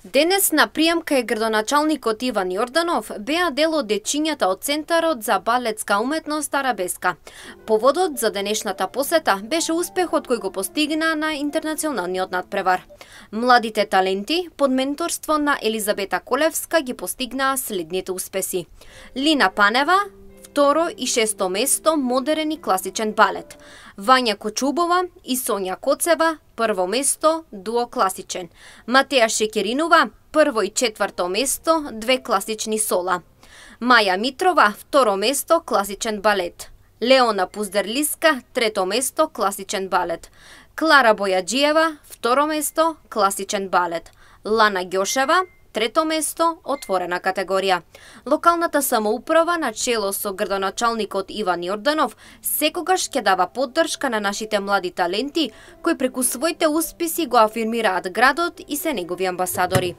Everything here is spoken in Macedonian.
Денес на прием кај градоначалникот Иван Јорданов беа дел од дечињата од Центарот за балетска уметност Арабеска. Поводот за денешната посета беше успехот кој го постигна на интернационалниот надпревар. Младите таленти под менторство на Елизабета Колевска ги постигнаа следните успеси. Лина Панева второ и шесто место модерен и класичен балет. Вања Кочубова и Сонја Коцева прво место дуо класичен. Матеја Шекеринова прво и четврто место две класични сола. Маја Митрова второ место класичен балет. Леона Пуздерлиска трето место класичен балет. Клара Бојаджиева второ место класичен балет. Лана Ѓошева трето место отворена категорија. Локалната самоуправа на чело со градоначалникот Иван Јорданов секогаш ќе дава поддршка на нашите млади таленти кои преку своите успеси го афирмираат градот и се негови амбасадори.